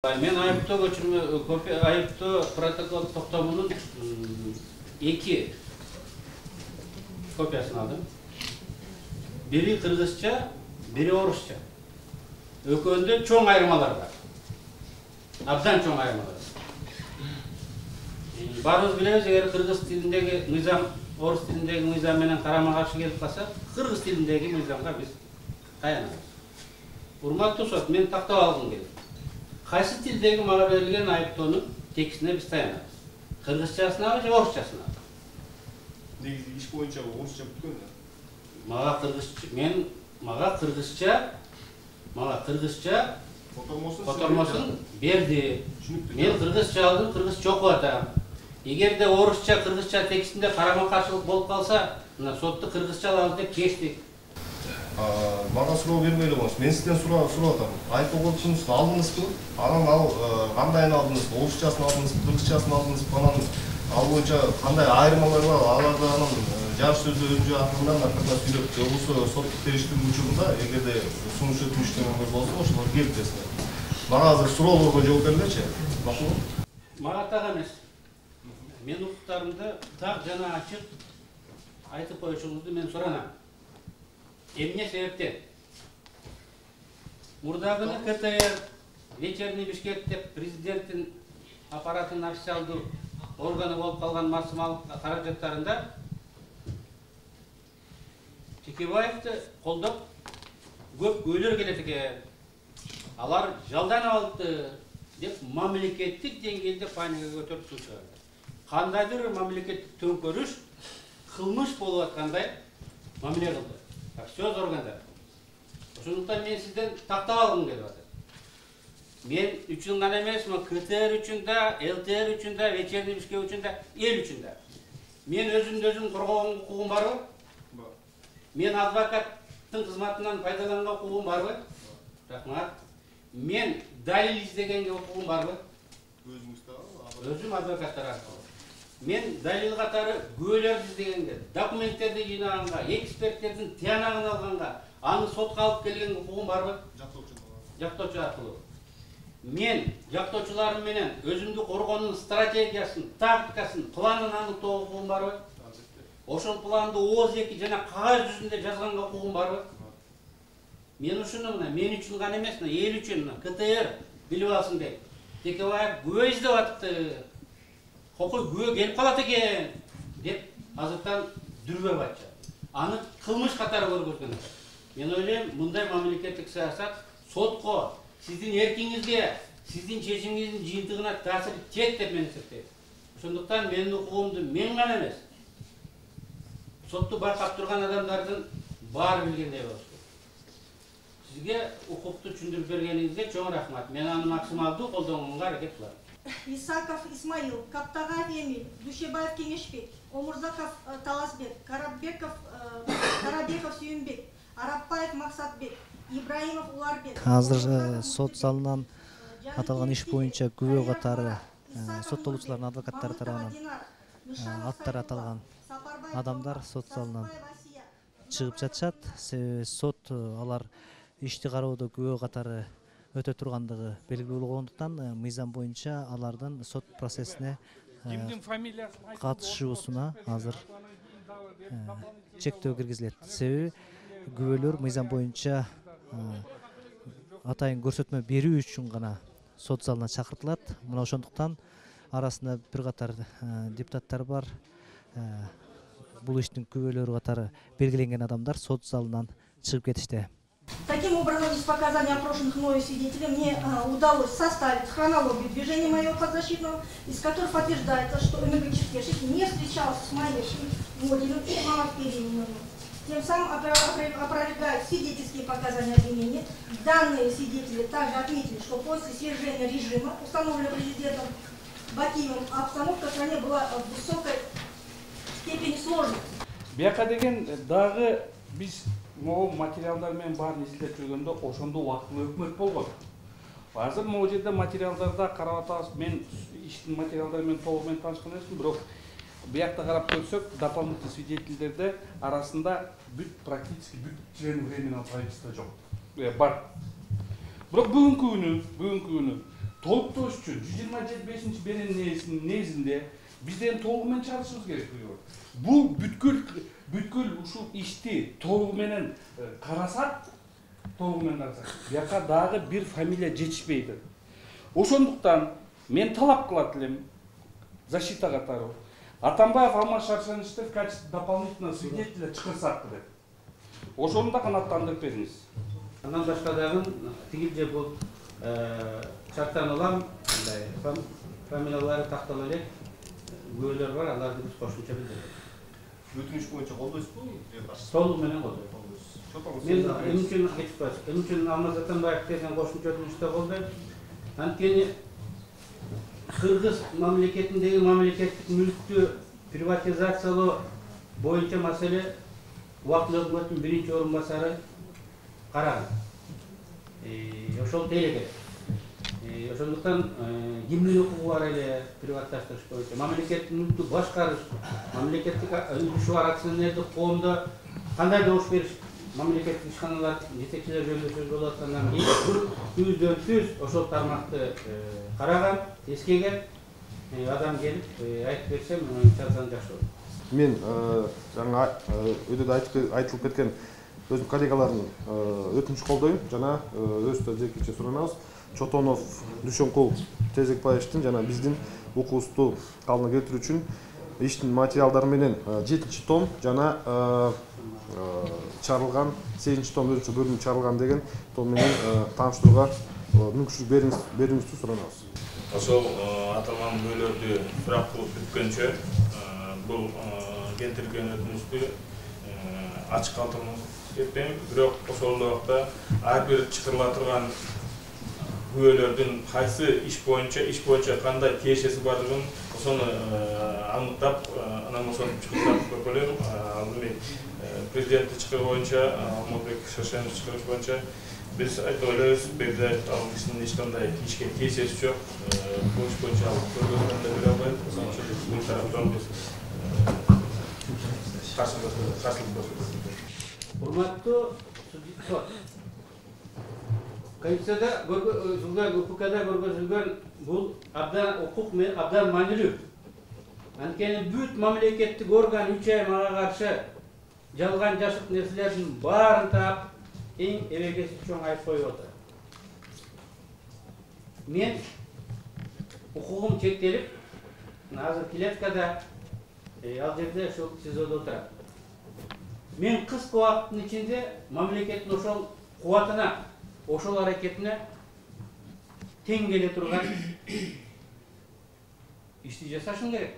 Мен айыптоо протокол токтомунун 2 копиясын алдым. Бири кыргызча, бири орусча. Экөөндө чоң айырмалар бар. Абдан чоң айырмалар. Баарыбыз билебиз, эгер кыргыз тилиндеги мыйзам орус тилиндеги мыйзам менен карама-каршы келип калса, кыргыз тилиндеги мыйзамга биз таянабыз. Урматтуу сот, мен тактап алгым келет. Кайсы тилдеги мага берилген айыптоонун текстине биз таянабыз? Кыргызчасынабы же орусчасынабы? Негизи иш боюнча орусча бүткөн да. Мага кыргызча котормосун берди. Мен кыргызча алдым, кыргызча окуп атам. Эгерде орусча, кыргызча текстинде карама-каршылык болуп калса, мына сотто кыргызча алабыз деп чечтик. Мага суроо бермей элеңиз. Мен сизден суроо атам. Айыптоо кодексуңузду алдыңызбы? Анан ал кандайын алдыңыз? Орусчасын алдыңызбы, кыргызчасын алдыңызбы? Анан ал боюнча кандай айырмалар бар? Аларды анан жарыш сөздү өзү атынан аркасына сүйлөп, болбосо соттук териштирүү учурунда эгерде сунуш өтүнүштөрүңөр болсо, ошолор келип берсиңер. Мага азыр суроолорго жооп бергилечи. Макулбу? Мага так эмес. Мен укуктарымды так жана ачык айтып коюшуңузду мен суранам. Эмне себептен? Мурдагы КТР, Вечерний Бишкек деп президенттин аппаратынын официалдуу органы болуп калган максималдык каражаттарында Чекебаевди колдоп көп көйлөр келет экен. Алар жалдан алды деп мамлекеттик деңгээлде паника көтөрүп чыгып чыгарды. Кандайдыр мамлекеттик төңкөрүш кылмыш болуп аткандай мамиле кылды. Сөз органдар. Ошондуктан мен сизден тактап алгым келип атат. Мен үчүн гана эмес, КТР үчүн да, ЛТР үчүн да, Вечерний Бишкек үчүн да, эл үчүн да. Мен өзүм коргогон укугум барбы? Бар. Мен адвокаттын кызматынан пайдаланган укугум барбы? Рахмат. Мен далил издегенге укугум барбы? Өзүңүз да? Өзүм адвокаттар аркылуу. Мен далил катары күбөлөрдү издегенге, документтерди жыйнаганга, эксперттердин тыянагын алганга, аны сотко алып келген укугум барбы? Жактоочу аркылуу. Мен жактоочуларым менен өзүмдү коргоонун стратегиясын, тактикасын, планын аныктоо укугум барбы? Ошол планды ооз-2 жана кагаз жүзүндө жазганга укугум барбы? Мен ушуну мына мен үчүн гана эмес, эл үчүн КТР билип алсын деп. Чекебаев күбө издеп атыпты. Кокой күбө келип калат экен деп азыртан дүрбөп атчы. Аны кылмыш катары көргөзгөн. Мен ойлойм, мындай мамлекеттик саясат сотко, сиздин эркиңизге, сиздин чечимиңиздин жыйынтыгына таасир этет деп мен эсептейм. Ошондуктан менин укугумду мен гана эмес, сотту байкап турган адамдардын баары билгендей болуш керек. Сизге укукту түшүндүрүп бергениңизге чоң рахмат. Мен аны максималдуу колдонууга аракет кылам. Исаков Исмаил, Каптагаев Эмиль, Душебаев Кеңешбек, Омурзаков Таласбек, Карабеков Сүйүнбек, Арапбаев Максатбек, Ибраимов Уларбек. Азыр сот залынан аталган иш боюнча күбө катары соттолуучулардын адвокаттары тарабынан аттары аталган адамдар сот залынан чыгып жатышат. Себеби сот алар ишти кароодо күбө катары өтө тургандыгы белгилүү болгондуктан мыйзам боюнча алардын сот процессине катышуусуна азыр чектөө киргизилет. Себеби күбөлөр мыйзам боюнча атайын көрсөтмө берүү үчүн гана сот залына чакыртылат. Мына ошондуктан арасында бир катар депутаттар бар. Бул иштин күбөлөрү катары белгиленген адамдар сот залынан чыгып кетишти. Таким образом, из показаний опрошенных мною свидетелей мне удалось составить хронологию движения моего подзащитного, из которых подтверждается, что МГ-Черкешев не встречался с Майей Водиным и Мамой Перениным. Тем самым опровергают свидетельские показания обвинения. Данные свидетели также отметили, что после свержения режима, установленного президентом Бакиевым, обстановка в стране была в высокой степени сложной. Бияка деген дагы биз могу материалдар менен баарын изилдеп жүргөндө ошондо убактылуу өкмөт болгон. Азыр могу жерде материалдарда карап атабыз. Мен иштин материалдары менен толук менен таанышкан эмесмин, бирок биякта карап көрсөк, дополнительный свидетельдерде арасында практически бүт член временного правительства жок. Бар. Бирок бүгүнкү күнү толуктош үчүн 125 беренесинин негизинде бизден толугу менен чыгарышыбыз керек. Бул бүткүл ушул ишти толугу менен карасак, бияка дагы бир фамилия жетишпейт. Ошондуктан мен талап кылат элем защита катары Атамбаев Алмаз Шаршеновичти в качестве дополнительного свидетеля чыгарсак деп. Ошону да канааттандырып бериңиз. Андан башка дагы тигил же бул шарттануулар фамилиялары тактала элек күбөлөр бар, аларды биз кошумча билдиребиз. Өтүнүш боюнча колдойсузбу? Толугу менен колдойбуз. Мен эмне үчүн кетип калдым? Эмне үчүн Алмаз Атамбаев деген кошумча өтүнүштө колдойм? Анткени Кыргыз мамлекетиндеги мамлекеттик мүлктү приватизациялоо боюнча маселе убактылуу өкмөттүн биринчи орун басары караган. Ошол делегет. Ошондуктан кимдин укугу бар эле приватташтырыш боюнча мамлекеттик мүлктү башкарыш, мамлекеттик үлүшү бар акционердик коомдо кандай добуш бериш, мамлекеттик ишканалар жетекчилер жөнүндө сөз болуп аткандан кийин түздөн-түз ошол тармакты караган, эскеген адам келип айтып берсе, жазган жакшы болот. Мен жаңа өтөдө айтылып кеткен өзүм коллегалардын өтүнүч колдойм жана өзүбүздө жекече суранабыз. Чотонов Дүйшөнкул Тезекбаевдин жана биздин укуубузду калыбына келтирүү үчүн иштин материалдары менен 7 том жана чарылган 8 том өзүнчө бөлүнүп чарылган деген том менен тааныштырууга мүмкүнчүлүк берүүңүздү суранабыз. Ошол аталган күбөлөрдү сурак кылып бүткөнчө бул келтирилген өтүнүштү ачык калтырмак кетпейм. Бирок ошол убакта ар бир чакырыла турган күбөлөрдүн кайсы иш боюнча кандай тиешеси бардыгын ошону аныктап, анан ошону чыгыртып көрүп элем. Алдымен президенттик чыгыш боюнча, Алмазбек Шаршенович чыгыш боюнча биз айтып элебиз, Бердиев ал кишинин эч кандай ишке тиешеси жок. Бул иш боюнча көргөзмө да бере албайт. Ошон үчүн бул тараптан биз каршылык көрсөтөбүз. Урматтуу сот. Конституцияда көргөзүлгөн, УККда көргөзүлгөн бул укук абдан маанилүү. Анткени бүт мамлекеттик орган 3 ай мага каршы жалган жашык нерселердин баарын таап, эң эбегеси чоң айып коюп отур. Мен укугум чектелип, азыр Клеткада ал жерде ошол СИЗОдо отурам. Мен кыска убакыттын ичинде мамлекеттин ошол кубатына, ошол аракетине тең келе турган ишти жасашым керек.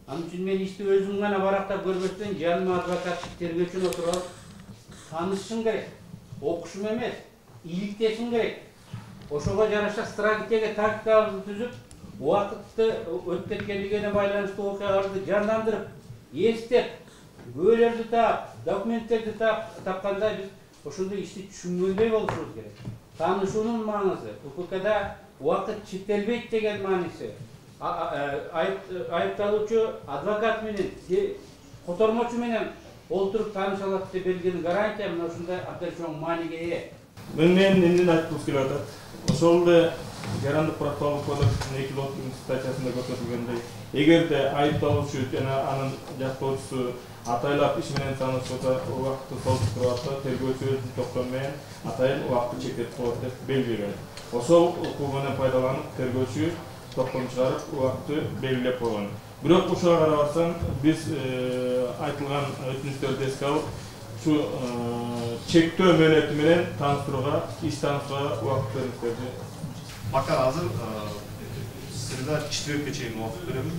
Ал үчүн мен ишти өзүм гана барактап көрбөстөн, жаныма адвокаттык тергөөчүнү отуруп таанышышым керек. Окушум эмес, иликтешим керек. Ошого жараша стратегия тактикаларды түзүп, убакытты өтүп кеткендигине байланыштуу окуяларды жандандырып, эстеп, күбөлөрдү таап, документтерди тапканда биз ошондой ишти түшүнгөндөй болушубуз керек. Таанышуунун маанысы, УККда убакыт чектелбейт деген мааниси. Айыпталуучу адвокат менен, котормочу менен олтуруп тааныша алат деп берилген гарантия мына ушундай абдан чоң мааниге ээ. Мен эмне айткым келип атат? Ошол эле Жарандык процессуалдык кодекстин 230 статьясында көрсөтүлгөндөй, эгерде айыпталуучу жана анын жактоочусу атайлап иш менен таанышса, убакытты солтуруп атса, тергөөчү өзүнүн токтому менен атайын убакытты чектеп коет деп белгилеген. Ошол укугунан пайдаланып, тергөөчү токтом чыгарып, убакытты белгилеп койгон. Бирок ушуга карабастан биз айтылган өтүнүштөрдү эске алып, ушу чектөө мөөнөтү менен тааныштырууга, иш тааныштырууга убакыт бериңиздерди. Пока азыр среда четверге чейин убакыт беребиз.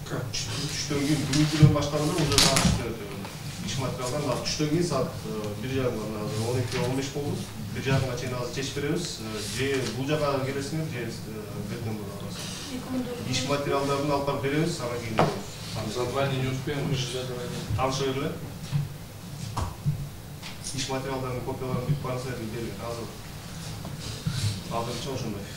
Түштөн кийин бүгүнкүдөн баштаганда уже таанышып иш материалдан азыр түштөн кийин саат 1:30 азыр 12:15 болду. 1:30 чейин азыр чечип беребиз. Же бул жака келесиңер, же бетен барабыз. Иш материалдарын алып барып беребиз, анан кийин задание не успеем, таанышып эле. Иш материалдарын копияларын бүт баарысы берилген азыр. Азырынча ошондой.